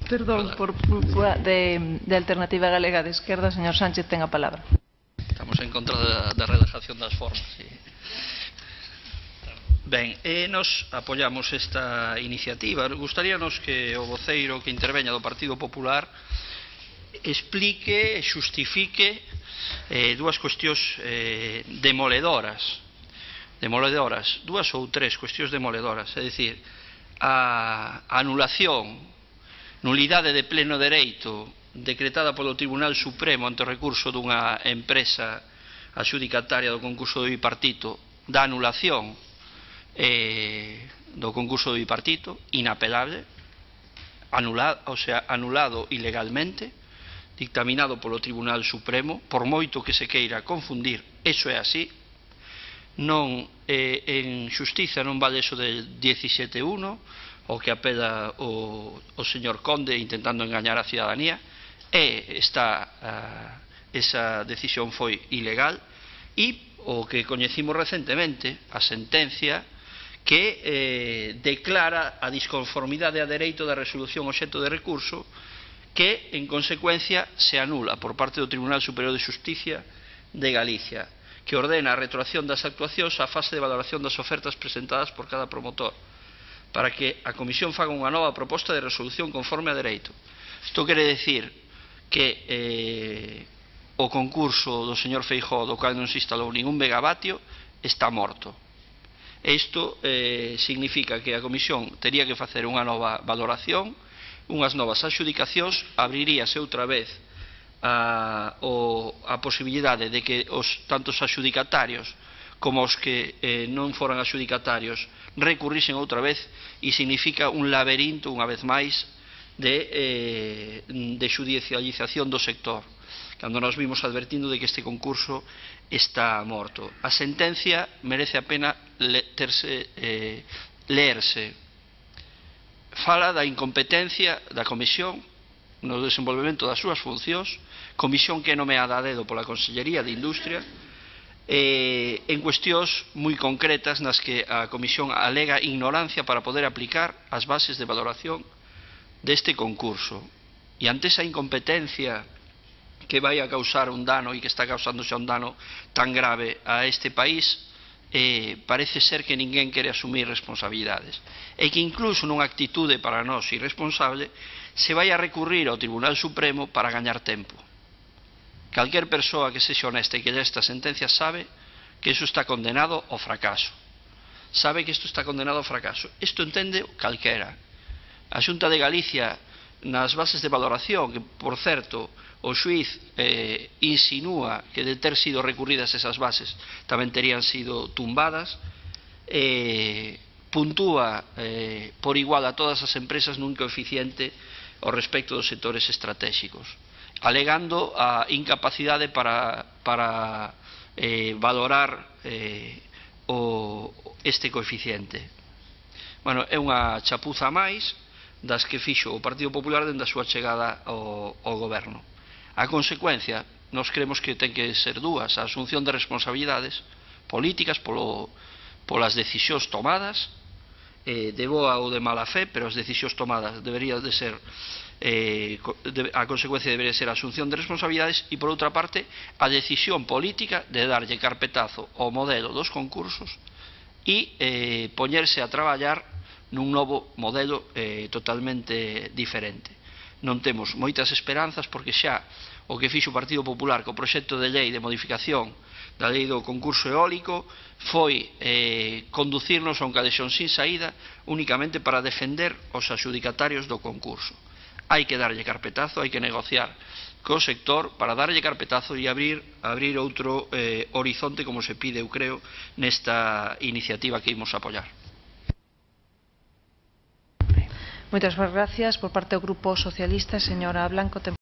Perdón, de Alternativa Galega de Esquerda, señor Sánchez, ten a palabra. Estamos en contra da relajación das formas. Ben, nos apoiamos esta iniciativa. Gustaríanos que o voceiro que interveña do Partido Popular explique e xustifique dúas cuestións demoledoras, dúas ou tres cuestións demoledoras, é dicir, a anulación, nulidade de pleno dereito decretada polo Tribunal Supremo ante o recurso dunha empresa adxudicataria do concurso do bipartito, da anulación do concurso do bipartito, inapelable, anulado ilegalmente, dictaminado polo Tribunal Supremo, por moito que se queira confundir, eso é así. Non, en xustiza non vale eso del 17.1, o que apela o señor Conde intentando engañar a cidadanía, esa decisión foi ilegal, e o que coñecimos recentemente, a sentencia que declara a disconformidade a dereito da resolución obxecto de recurso, que en consecuencia se anula por parte do Tribunal Superior de Xusticia de Galicia, que ordena a retroacción das actuacións á fase de valoración das ofertas presentadas por cada promotor, para que a Comisión faga unha nova proposta de resolución conforme a dereito. Isto quere decir que o concurso do señor Feijóo, do cual non se instalou ningún megavatio, está morto. Isto significa que a Comisión tería que facer unha nova valoración, unhas novas adxudicacións, abriríase outra vez a posibilidade de que tanto os adxudicatarios como os que non foran adxudicatarios recurrisen outra vez, e significa un laberinto, unha vez máis, de xudicialización do sector, cando nos vimos advertindo de que este concurso está morto. A sentencia merece a pena leerse. Fala da incompetencia da Comisión no desenvolvemento das súas funcións, comisión que é nomeada a dedo pola Consellería de Industria, en cuestións moi concretas nas que a Comisión alega ignorancia para poder aplicar as bases de valoración deste concurso. E ante esa incompetencia que vai a causar un dano e que está causando xa un dano tan grave a este país, parece ser que ninguén quere asumir responsabilidades, e que incluso nunha actitude para nós irresponsable se vai a recurrir ao Tribunal Supremo para gañar tempo. Calquer persoa que sexa honesta e que lle esta sentencia sabe que iso está condenado ao fracaso. Sabe que isto está condenado ao fracaso. Isto entende calquera. A Xunta de Galicia, nas bases de valoración, que, por certo, o xuiz insinúa que de ter sido recurridas esas bases tamén terían sido tumbadas, puntúa por igual a todas as empresas nun coeficiente ao respecto dos sectores estratégicos, alegando a incapacidade para valorar este coeficiente. Bueno, é unha chapuza máis das que fixo o Partido Popular dende a súa chegada ao goberno. A consecuencia, nós creemos que ten que ser dúas: a asunción de responsabilidades políticas polas decisións tomadas, de boa ou de mala fe, pero as decisións tomadas deberían de ser, a consecuencia debería ser a asunción de responsabilidades, e por outra parte a decisión política de darlle carpetazo ao modelo dos concursos e poñerse a traballar nun novo modelo totalmente diferente. Non temos moitas esperanzas, porque xa o que fixo o Partido Popular co proxecto de lei de modificación da lei do concurso eólico foi conducirnos a un calexón sin saída únicamente para defender os adxudicatarios do concurso. Hai que darlle carpetazo, hai que negociar co sector para darlle carpetazo e abrir outro horizonte, como se pide, eu creo, nesta iniciativa que imos apoiar. Moitas gracias. Por parte do Grupo Socialista, señora Blanco.